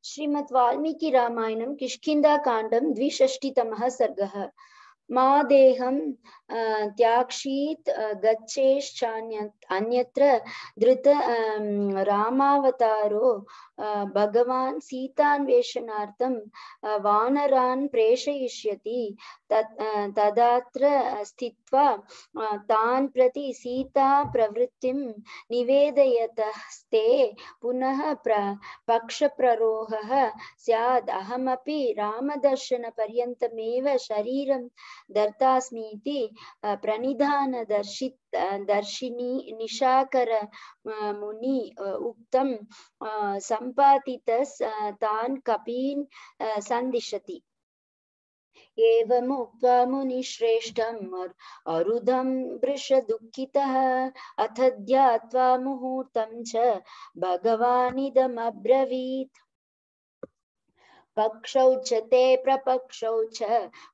श्रीमद् वाल्मीकि रामायणं किष्किन्धाकाण्डं 62तमः सर्गः। मा देहं त्याक्षीत् गच्छेश्चान्यत्र धृत रामावतारो भगवान् सीतान्वेषणार्थं वानरान् प्रेषयिष्यति। तदात्र स्थित्वा तान् प्रति सीता प्रवृत्तिं निवेदयतस्ते पुनः पक्षप्ररोहः स्यात्। अहमपि रामदर्शनपर्यन्तमेव शरीरं दर्तास्मीति प्रणिधानदर्शिनी निशाकर मुनि उक्तं सम्पातितस् तान् कपीन् सन्दिशति। एवमुक्त्वा मुनिश्रेष्ठम् अरुधं वृषदुःखितः अथ ध्यात्वा मुहूर्तं च भगवानिदमब्रवीत्। पक्षौ च ते प्रपक्षौ च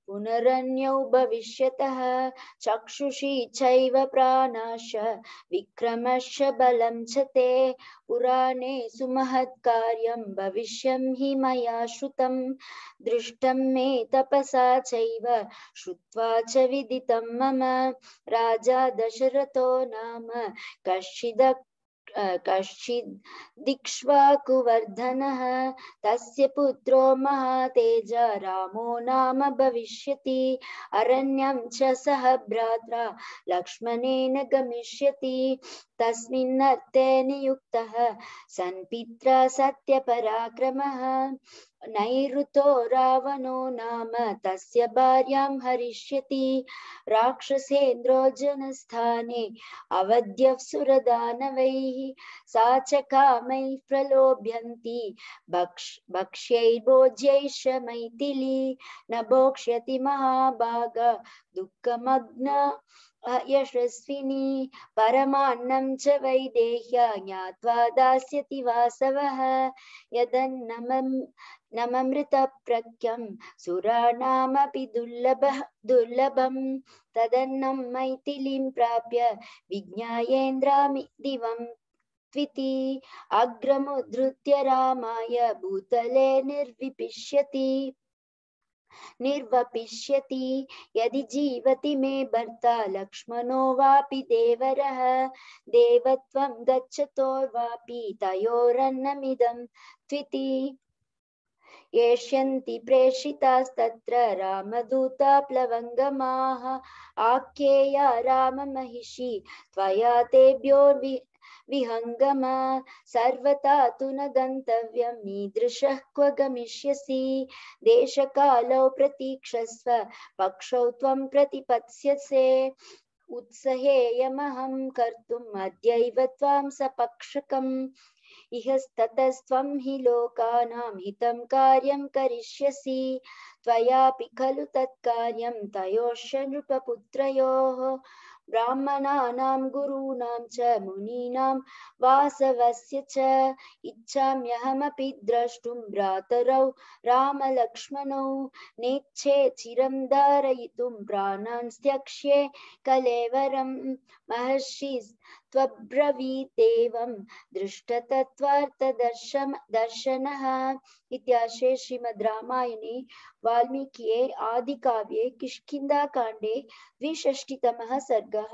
पुनरन्यौ भविष्यतः चक्षुषी चैव प्राणाश्च विक्रमश्च बलं च ते पुराणे सुमहत्कार्यं भविष्यं हि मया श्रुतं दृष्टं मे तपसा चैव श्रुत्वा च विदितं मम राजा दशरथो नाम कश्चिदिक्ष्वाकुवर्धनः तस्य पुत्रो महातेज रामो नाम भविष्यति। अरण्यं च सह भ्रात्रा लक्ष्मणेन गमिष्यति। तस्मिन्नर्थे नियुक्तः सन्पित्रा सत्यपराक्रमः नैऋतो रावणो नाम तस्य भार्यां हरिष्यति। राक्षसेन्द्रो जनस्थाने अवध्यः सुरदानवैः सा च कामैः प्रलोभ्यन्ति भक्ष्यैर्भोज्यैश्च मैथिली न भोक्ष्यति महाभाग दुःखमग्न यशस्विनी परमान्नं च वैदेह्या ज्ञात्वा दास्यति वासवः यदन्नममृतप्रख्यं सुराणामपि दुर्लभं तदन्नं मैथिलीं प्राप्य विज्ञायेन्द्रामि दिवं त्विति अग्रमुद्धृत्य रामाय भूतले निर्वपिष्यति यदि जीवति मे भर्ता लक्ष्मणो वापि देवरः देवत्वं गच्छतोर्वापि तयोरन्नमिदं त्विति येष्यन्ति प्रेषितास्तत्र रामदूता प्लवङ्गमाः आख्येया राममहिषी त्वया तेभ्यो विहङ्गम सर्वथा तु न गन्तव्यं मीदृशः क्व गमिष्यसि देशकालौ प्रतीक्षस्व पक्षौ त्वं प्रतिपत्स्यसे उत्सहेयमहं कर्तुम् अद्यैव त्वां सपक्षकम् इहस्ततस्त्वं हि लोकानां हितं कार्यं करिष्यसि त्वयापि खलु तत्कार्यं तयोश्च नृपपुत्रयोः ब्राह्मणानां गुरूणां च मुनीनां वासवस्य च इच्छाम्यहमपि द्रष्टुं भ्रातरौ रामलक्ष्मणौ नेच्छे चिरं धारयितुं प्राणान् त्यक्ष्ये कलेवरं महर्षि त्वब्रवीदेवं दृष्टतत्त्वार्थदर्शनः। इत्यार्षे श्रीमद् रामायणे वाल्मीकिये आदिकाव्ये किष्किन्धाकाण्डे 62तमः सर्गः।